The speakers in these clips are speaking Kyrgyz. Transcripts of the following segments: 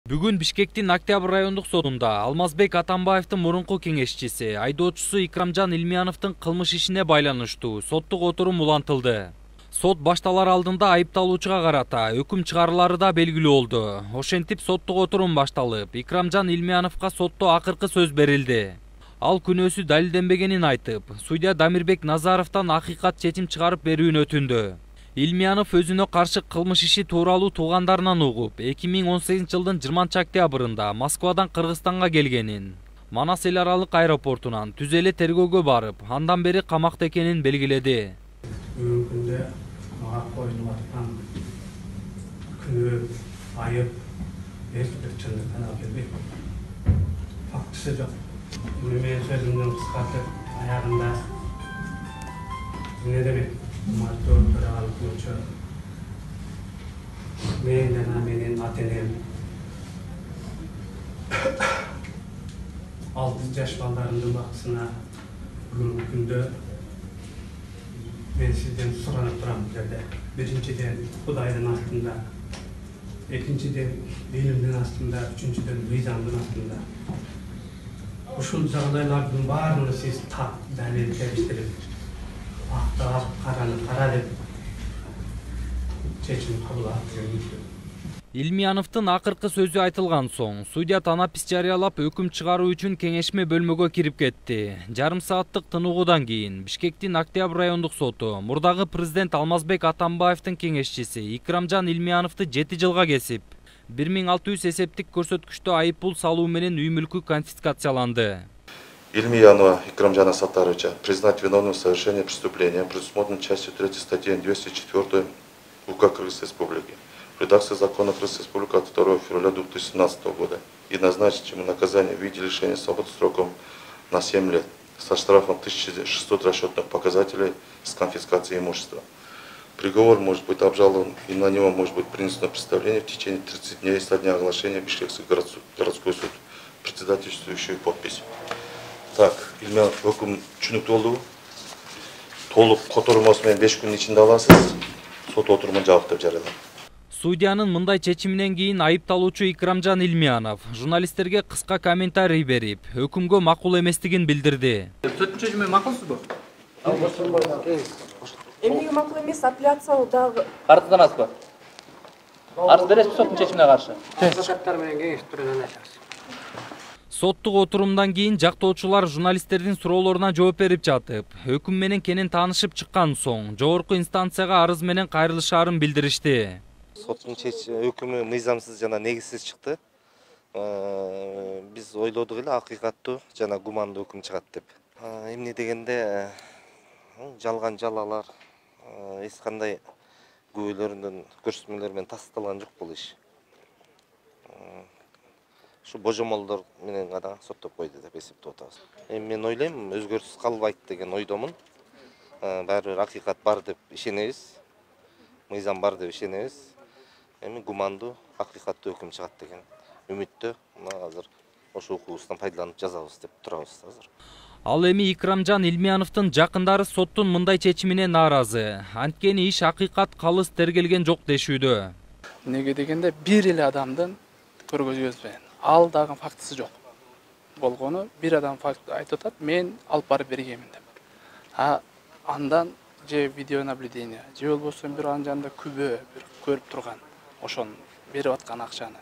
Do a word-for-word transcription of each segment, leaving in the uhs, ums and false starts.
Бүгүн Бишкектин Октябрь райондук сотунда Алмазбек Атамбаевдин мурунку кеңешчиси, айдоочусу Икрамжан Илмияновдун кылмыш ишине байланыштуу соттук отурум улантылды. Сот башталар алдында айыпталуучуга карата өкүм чыгарылары да белгилүү болду. Ошентип соттук отурум башталып, Икрамжан Илмияновго сотто акыркы сөз берилди. Ал күнөөсү далилденбегенин айтып, судья Дамирбек Назаровдон акыйкат чечим чыгарып берүүнү өтүндү. Илмиянов өзүнө каршы кылмыш иши тууралуу туугандарынан угуп, эки миң он сегизинчи жылдын жыйырманчы октябрында Москвадан Кыргызстанга келгенин, Манас эл аралык аэропортунан түз эле тергөөгө барып, андан бери камакта экенин белгиледи. Бүгүнкү күндө мага коюлуп аткан күнөө, айып эч бир чындыктан алып келбейт. Фактысы жок. Мен сөзүмдү кыскартып, аягында эмне демек? Мартоо төрагалық болчу. Мен жана менин ата-энем алты жаш балдарымдын бактысына бүгүнкү күндө мен сизден суранып турам бул жерде. Биринчиден Кудайдын астында, экинчиден билимдин астында, үчүнчүдөн мыйзамдын астында. Ушул жагдайлардын баарына сиз так далил келиштирип, актап, караны кара деп чечим кабыл алып. Илмияновдун акыркы сөзү айтылган соң, судья танапис жарыялап өкүм чыгаруу үчүн кеңешме бөлмөгө кирип кетти. Жарым сааттык тыныгуудан кийин Бишкектин Октябрь райондук соту мурдагы президент Алмазбек Атамбаевдин кеңешчиси Икрамжан Илмияновду жети жылга кесип, бир миң алты жүз эсептик көрсөткүчтө айып пул салуу менен үй мүлкү конфискацияланды. Ильмиянова Икрамжана Саттаровича признать виновным в совершении преступления, предусмотренной частью третьей статьи двести четыре УК Кыргызской Республики, в редакции закона Кыргызской Республики от второго февраля две тысячи семнадцатого года и назначить ему наказание в виде лишения свободы сроком на семь лет со штрафом тысяча шестьсот расчетных показателей с конфискацией имущества. Приговор может быть обжалован и на него может быть принесено представление в течение тридцати дней со дня оглашения Бишкекский городской суд, председательствующую подпись. Так, Илмиянов өкүм түшүнүктүү болду. Толук котормосу менен беш күндүн ичинде аласыз. Сот отурумун жабык деп жарыялам. Судьянын мындай чечиминен кийин айыпталуучу Икрамжан Илмиянов журналисттерге кыска комментарий берип, өкүмгө макул эместигин билдирди. Соттун чечими макулсузбу? Эмнеге макул эмес? Апелляция дагы Карызданасызбы? Арыз бересизби соттун чечимине каршы? Адвокаттар менен кеңешип туруп айтабыз. Соттук отурумдан кийин жактоочулар журналисттердин суроолоруна жооп берип жатып, өкүм менен кенен таанышып чыккан соң, жогорку инстанцияга арыз менен кайрылышаарын билдиришти. Соттун өкүмү мыйзамсыз жана негизсиз чыкты. Биз ойлодук эле акыйкаттуу жана гумандуу өкүм чыгат деп. Эмне дегенде жалган жалалар, эч кандай күбөлөрүнүн көрсөтмөлөр менен тасталган жок бул иш. Şu божомолдор менен гана соттоп койду деп эсептеп атабыз. Эми мен ойлойм, өзгөрүшсүз калбайт деген ойдомун. Баары бир акыйкат бар деп ишенебиз. Мыйзам бар деп ишенебиз. Эми гумандуу, акыйкаттуу өкүм чыгат деген үмүттө мына азыр ошол укугубуздан пайдаланып жазабыз деп турабыз азыр. Ал эми Икрамжан Илмияновдун жакындары соттун мындай чечимине нааразы. Анткени иш акыйкат калыс тергелген жок дешүүдө. Неге дегенде бир эле адамдын көргөзүбүз менен ал дагы фактысы жок болгону бир адам факт айтып атат, мен алып барып бергенмин деп. А андан же видеонаблюдение, же болбосо бир анын жанында күбө, бир көрүп турган, ошону берип аткан акчаны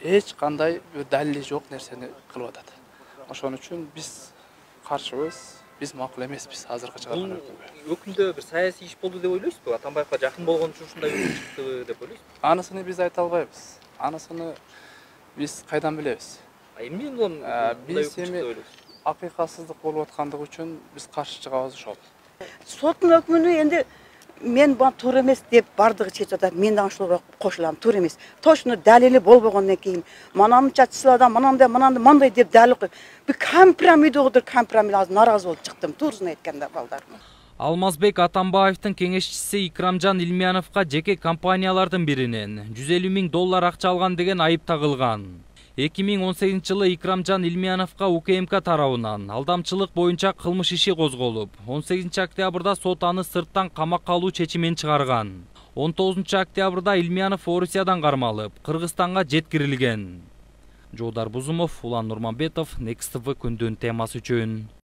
эч кандай бир далили жок нерсени кылып атат. Ошон үчүн биз каршыбыз, биз макул эмеспиз азыркы чыгарган өкүмгө. Өкүмдө бир саясий иш болду деп ойлойсузбу? Атамбаевга жакын болгон үчүн ушундай өкүм чыкты деп ойлойсузбу? Анысыны биз айта албайбыз. Анысыны биз кайдан билебиз? Эмне болон биз эми акыйкатсыздык болуп аткандыгы үчүн биз каршы чыгабыз ошол. соттун өкүмүнө энди мен бул туура эмес деп бардыгы чечип атат. Мен да ошолго кошулам, туура эмес. Точно далили болбогондон кийин манамча чыладам, манандай, манандай, мындай деп далил коюп. Бир компромиддир компромис азыр нааразы болуп чыктым, туурусун айтканда балдарым. Алмазбек Атамбаевдин кеңешчиси Икрамжан Илмияновго жеке компаниялардын биринен жүз элүү миң доллар акча алган деген айып тагылган. эки миң он сегизинчи жылы Икрамжан Илмияновго УКМК тарабынан алдамчылык боюнча кылмыш иши козголуп, он сегизинчи октябрда сот аны сырттан камакка алуу чечимин чыгарган. он тогузунчу октябрда Илмиянов Орусиядан кармалып, Кыргызстанга жеткирилген. Жолдар Бузумов, Улан Нурманбетов, Next T V күндүн темасы үчүн.